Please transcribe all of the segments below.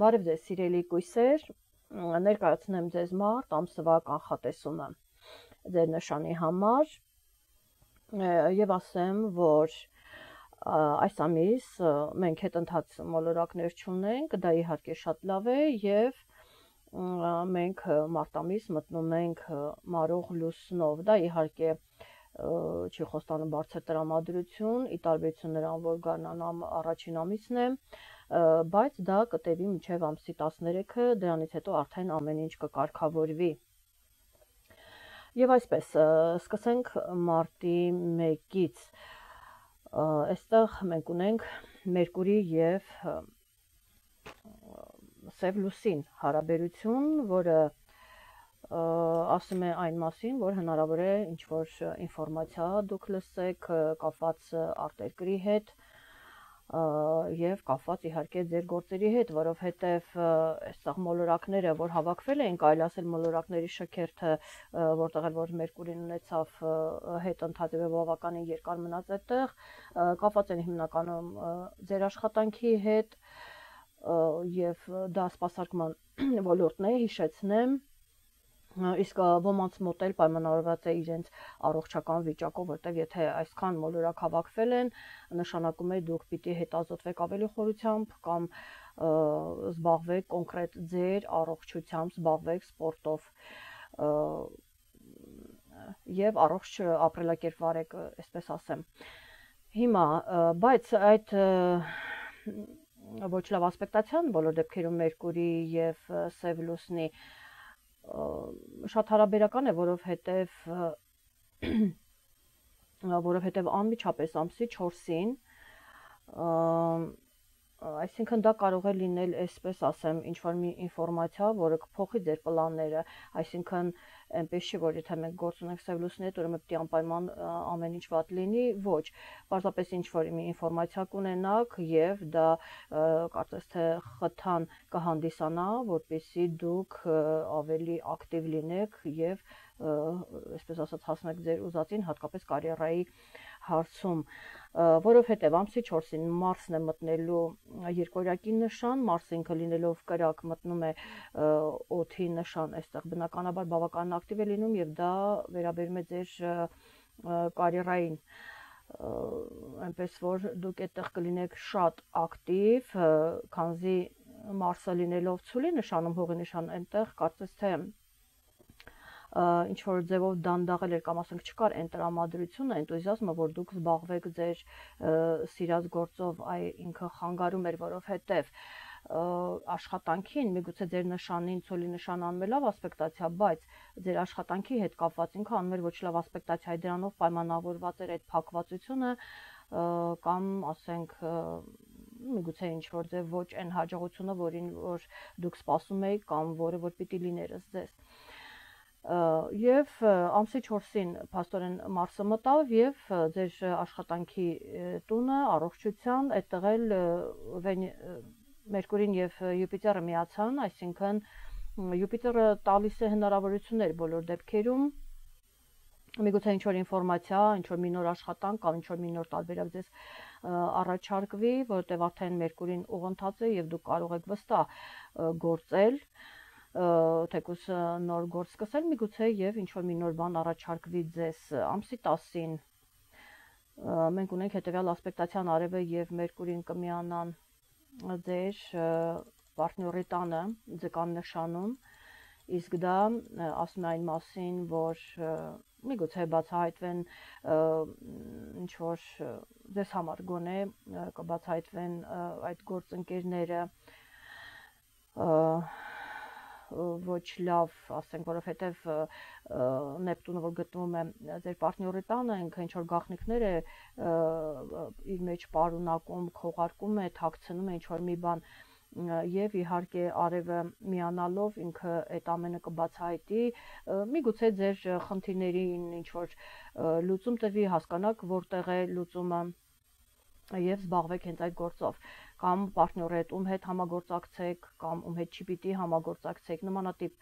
Բարև ձեզ սիրելի կույսեր, ներկայացնեմ ձեզ մարտ ամսվա կանխատեսումը ձեր նշանի համար եւ ասեմ, որ այս ամիս մենք հետընթաց մոլորակներ չունենք, դա իհարկե շատ լավ է եւ մենք մարտ ամիս մտնում ենք մարող լուսնով, դա իհարկե չի խոստանում բարձր տրամադրություն, ի տարբերություն նրան, որ գարնան առաջին ամիսն է, բայց դա կտևի մինչև ամսի 13-ը, դրանից հետո արդեն ամեն ինչ կկարգավորվի։ Եվ այսպես, սկսենք մարտի 1-ից։ Այստեղ մենք ունենք Մերկուրի եւ Սև լուսին հարաբերություն, որը ասում է այն մասին, որ հնարավոր է ինչ-որ ինֆորմացիա դուք լսեք կապված արտերկրի հետ եւ կապված իհարկե ձեր գործերի հետ, որովհետեւ այստեղ մոլորակները, որ հավաքվել էին, կարելի ասել մոլորակների շքերթը, որտեղ որ Մերկուրին ունեցավ հետընթաց եւ բավականին երկար մնաց այդտեղ, կապված են հիմնականում ձեր աշխատանքի հետ եւ դա սպասարկման ոլորտն է, հիշեցնեմ, իսկ ոմանց մոտ էլ պայմանավորված է իրենց առողջական վիճակով, որտեղ եթե այսքան մոլորակ հավաքվել են, նշանակում է դուք պիտի հետազոտվեք ավելի խորությամբ կամ զբաղվեք կոնկրետ ձեր առողջությամբ, զբաղվեք սպորտով եւ առողջ ապրելակերպ վարեք, այսպես ասեմ։ Հիմա, բայց այդ ոչ լավ ասպեկտացիան բոլոր դեպքերում Մերկուրի եւ Սև լուսնի շատ հարաբերական է, որովհետև անմիջապես ամսի 4-ին, այսինքն դա կարող է լինել, այսպես ասեմ, ինչ-որ մի ինֆորմացիա, որը կփոխի ձեր պլանները, այսինքն այնպես չի, որ եթե մենք գործ ունենք Սև լուսնի հետ, ուրեմն պետք է անպայման ամեն ինչ վատ լինի, ոչ, պարզապես ինչ-որ մի ինֆորմացիա կունենաք եւ դա կարծես թե խթան կհանդիսանա, որպեսզի դուք ավելի ակտիվ լինեք եւ այսպես ասած հասնեք ձեր ուզածին, հատկապես կարիերայի հարցում, որովհետև ամսի 4-ին Մարսն է մտնելու երկորյակի նշան, Մարսը ինքը լինելով կրակ մտնում է օդի նշան, այստեղ բնականաբար բավական ակտիվ է լինում եւ դա վերաբերում է ձեր կարիերային, այնպես որ դուք այդտեղ կլինեք շատ ակտիվ, քանզի Մարսը լինելով ցուլի նշանում, հողի նշան, այնտեղ կարծես թե ինչ-որ ձևով դանդաղել էր կամ ասենք չկար այն տրամադրությունը, էնտուզիազմը, որ դուք զբաղվեք ձեր սիրած գործով, ինքը խանգարում էր, որովհետև աշխատանքին, միգուցե ձեր նշանին ցոլի նշան անում է լավ ասպեկտացիա, բայց ձեր աշխատանքի հետ կապված ինքը անում էր ոչ լավ ասպեկտացիա, դրանով պայմանավորված էր այդ փակվածությունը կամ ասենք միգուցե ինչ-որ ձև ոչ այն հաջողությունը, որին որ դուք սպասում եք կամ որը որ պիտի լիներ ձեզ։ Եվ ամսի 4-ին փաստորեն Մարսը մտավ եւ ձեր աշխատանքի տունը, առողջության, այդտեղ էլ Մերկուրին եւ Յուպիտերը միացան, այսինքն Յուպիտերը տալիս է հնարավորություններ բոլոր դեպքերում, միգուցե ինչ-որ ինֆորմացիա, ինչ-որ մի նոր աշխատանք կամ ինչ-որ մի նոր տարբերակ ձեզ առաջարկվի, որովհետեւ արդեն Մերկուրին ուղղընթաց է եւ դուք կարող եք վստահ գործել, թեկուզ նոր գործ սկսել, միգուցե եւ ինչ-որ մի նոր բան առաջարկվի ձեզ ամսի 10-ին։ Մենք ունենք հետեւյալ ասպեկտացիան արևը եւ Մերկուրին կմիանան ձեր պարտների տանը, ձկան նշանում, իսկ դա ասում է այն մասին, որ միգուցե բացահայտվեն ինչ-որ ձեզ համար գոնե կբացահայտվեն այդ գործընկերները ոչ լավ, ասենք, որովհետև Նեպտունը, որ գտնվում է ձեր պարտների տանը, ինքը ինչ-որ գաղտնիքներ է իր մեջ պարունակում, քողարկում է, թաքցնում է ինչ-որ մի բան եւ իհարկե արևը միանալով ինքը այդ ամենը կբացահայտի, միգուցե ձեր խնդիրներին ինչ-որ լուծում տրվի, հասկանաք որտեղ է լուծումը եւ զբաղվեք հենց այդ գործով, կամ պարտների հետ ում հետ համագործակցեք, կամ ում հետ չի պիտի համագործակցեք, նմանատիպ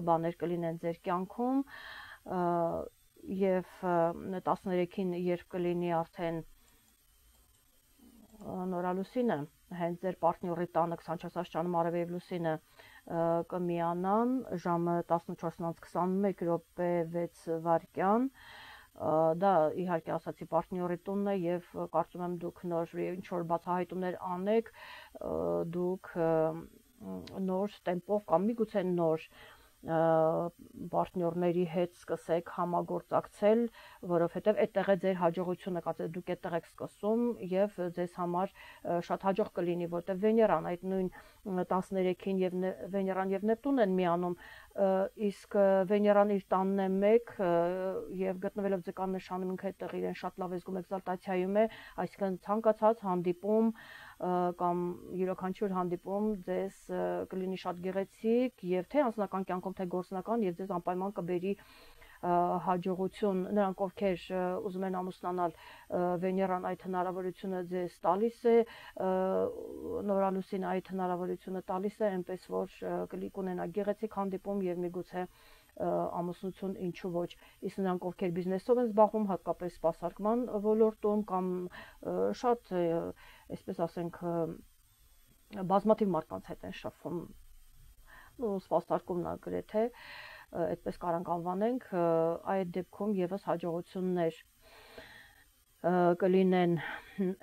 բաներ կլինեն ձեր կյանքում եւ 13-ին երբ կլինի արդեն Նորալուսինը, հենց ձեր պարտների տանը 24 աստիճանում արև եւ լուսինը կմիանան ժամը 14:21 րոպե 6 վայրկյան, դա իհարկե ասացի պարտների տունն է եւ կարծում եմ դուք նոր ինչ որ բացահայտումներ անեք, դուք նոր տեմպով կամ միգուցե նոր պարտներների հետ սկսեք համագործակցել, որովհետև այդտեղ է ձեր հաջողությունը, կացեք դուք այդտեղ եք սկսում եւ ձեզ համար շատ հաջող կլինի, որտեղ Վեներան այդ նույն 13-ին եւ Վեներան եւ Նեպտունն են միանում, իսկ Վեներան իր տանն է 1 եւ գտնվելով ձկան նշանում ինքը այդտեղ իրեն շատ լավ զգում էքզալտացիայում է, այսինքն ցանկացած հանդիպում կամ յուրաքանչյուր հանդիպում ձեզ կլինի շատ գեղեցիկ եւ թե անձնական կյանքում թե գործնական եւ ձեզ անպայման կբերի հաջողություն, նրանք ովքեր ուզում են ամուսնանալ, Վեներան այդ հնարավորությունը ձեզ տալիս է, Նորալուսին այդ հնարավորությունը տալիս է, այնպես որ կունենա գեղեցիկ հանդիպում եւ միգուցե ամուսնություն ինչու ոչ, իսկ նրանք ովքեր բիզնեսով են զբաղվում, հատկապես սպասարկման ոլորտում կամ շատ, այսպես ասենք, բազմաթիվ մարդկանց հետ են շփվում, սպասարկումն գրեթե, այդպես կարանք անվանենք, այդ դեպքում եւս հաջողություններ կլինեն,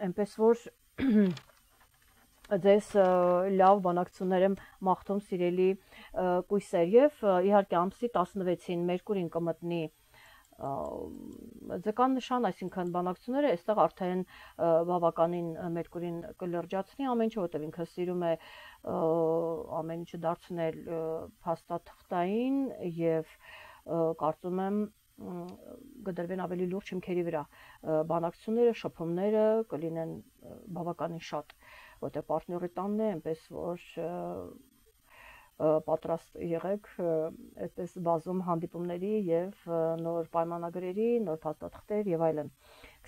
այնպես որ ձեզ լավ բանակցություններ եմ մաղթում սիրելի կույսեր եւ իհարկե ամսի 16-ին Մերկուրին կմտնի ձկան նշան, այսինքն բանակցությունները այստեղ արդեն բավականին Մերկուրին կլրջացնի ամեն ինչ, որտեղ ինքը սիրում է ամեն ինչը դարձնել փաստաթղթային եւ կարծում եմ կդրվեն ավելի լուրջ հիմքերի վրա բանակցությունները, շփումները կլինեն բավականին շատ, որտեղ պարտների տանն է, այնպես որ պատրաստ եղեք այդպես բազում հանդիպումների եւ նոր պայմանագրերի, նոր փաստաթղթեր եւ այլն։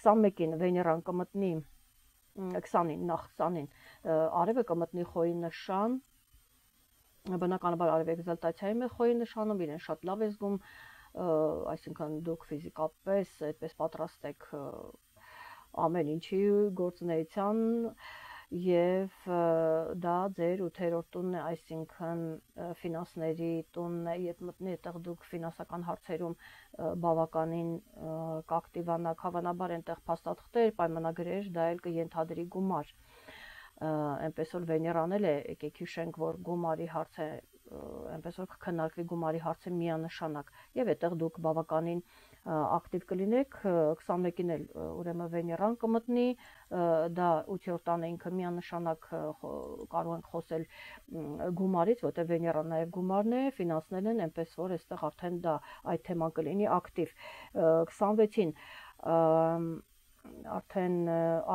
21-ին Վեներան կմտնի 20-ին արևը կմտնի Խոյի նշան, բնականաբար արևը էքզալտացիայում է Խոյի նշանում, իրեն շատ լավ է զգում, այսինքն դուք ֆիզիկապես այդպես պատրաստ եք ամեն ինչի գործունեության եւ դա ձեր 8-րդ տունն է, այսինքն ֆինանսների տունն է, երբ մտնի այդտեղ դուք ֆինանսական հարցերում բավականին կակտիվանաք, հավանաբար այնտեղ փաստաթղթեր, պայմանագրեր, դա էլ կենթադրի գումար, այնպես որ Վեներան էլ է, եկեք հիշենք, որ գումարի հարց է, այնպես որ կքննարկվի գումարի հարցը միանշանակ եւ այդտեղ դուք բավականին ակտիվ կլինեք, 21-ին էլ ուրեմն Վեներան կմտնի, դա 8-րդ տանը ինքը միանշանակ կարող ենք խոսել գումարից, որտեղ Վեներան նաեւ գումարն է, ֆինանսներն են, այնպես որ այստեղ արդեն դա այդ թեման կլինի ակտիվ, 26-ին արդեն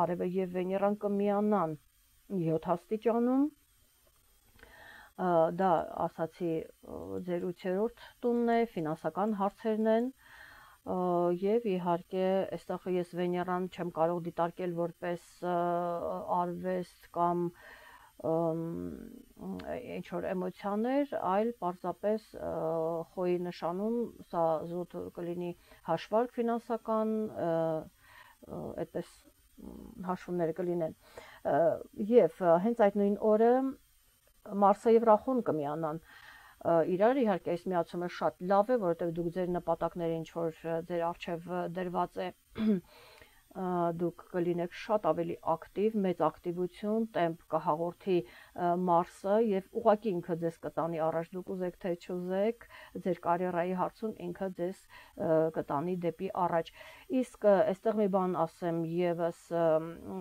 արևը եւ Վեներան կմիանան 7 աստիճանում, դա ասացի ձեր 8-րդ տունն է, ֆինանսական հարցերն են եւ իհարկե այստեղ ես Վեներան չեմ կարող դիտարկել որպես արվեստ կամ ինչ որ էմոցիաներ, այլ պարզապես Խոյի նշանում սա զուտ կլինի հաշվարկ ֆինանսական, այդպես հաշվումները կլինեն եւ հենց այդ նույն օրը Մարսը եւ Ռախուն կմիանան իրար, իհարկե այս միացումը շատ լավ է, որովհետեւ դուք ձեր նպատակները ինչ որ ձեր արժեվ դրված է դուք կլինեք շատ ավելի ակտիվ, մեծ ակտիվություն, տեմպ կհաղորդի Մարսը եւ ուղղակի ինքը ձեզ կտանի առաջ, դուք ուզեք թե չուզեք, ձեր կարիերայի հարցում ինքը ձեզ կտանի դեպի առաջ։ Իսկ այստեղ մի բան ասեմ եւս,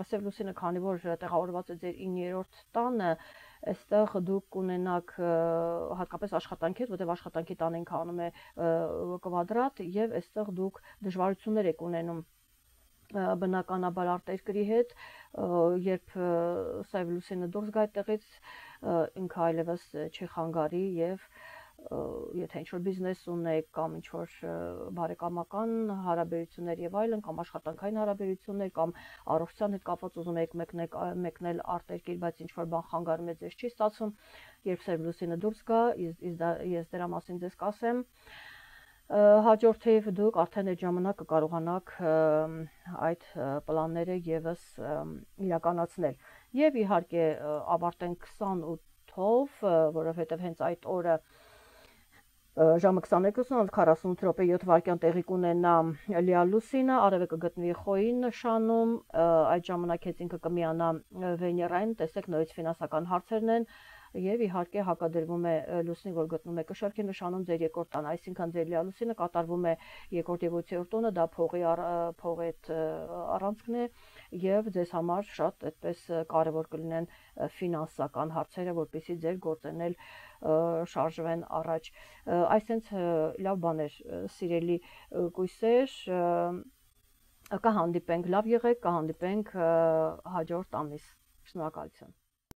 Սև լուսինը քանի որ տեղավորված է ձեր 9-րդ տանը, այստեղ դուք կունենաք հատկապես աշխատանքի հետ, որտեղ աշխատանքի տանը ինքը անում է կվադրատ եւ այստեղ դուք դժվարություններ եք ունենում բնականաբար արտերկրի հետ, երբ Սև լուսինը դուրս գա այդտեղից, ինքը այլևս չի խանգարի եւ եթե ինչ-որ բիզնես ունեք կամ ինչ-որ բարեկամական հարաբերություններ եւ այլն, կամ աշխատանքային հարաբերություններ, կամ առողջության հետ կապված ուզում եք մեկնել արտերկիր, բայց ինչ-որ բան խանգարում է, ձեզ չի ստացվում, երբ Սև լուսինը դուրս գա, ես դրա մասին ձեզ կասեմ, Հաջորդիվ դուք արդեն այդ ժամանակ կկարողանաք այդ պլանները եւս իրականացնել եւ իհարկե ավարտենք 28-ով, որովհետեւ հենց այդ օրը ժամը 22:48 7 վայրկյան տեղի կունենա Լիա Լուսինը, արևը կգտնվի Խոյի նշանում, այդ ժամանակ հետ ինքը կմիանա Վեներային, տեսեք նորից ֆինանսական հարցերն են եւ իհարկե հակադրվում է Լուսնի, որ գտնվում է Կշարքի նշանում ձեր երկրորդ տանը, այսինքն ձեր Լիա Լուսինը կատարվում է երկրորդ եւ ութերորդ տունը, դա փողի այդ առանցքն է եւ ձեզ համար շատ այդպես կարեւոր կլինեն ֆինանսական հարցերը, որպեսզի ձեր գործերն շարժվեն առաջ։ Այսինքն լավ բաներ, սիրելի կույսեր, կհանդիպենք, լավ եղեք, կհանդիպենք հաջորդ ամիս։ Շնորհակալություն։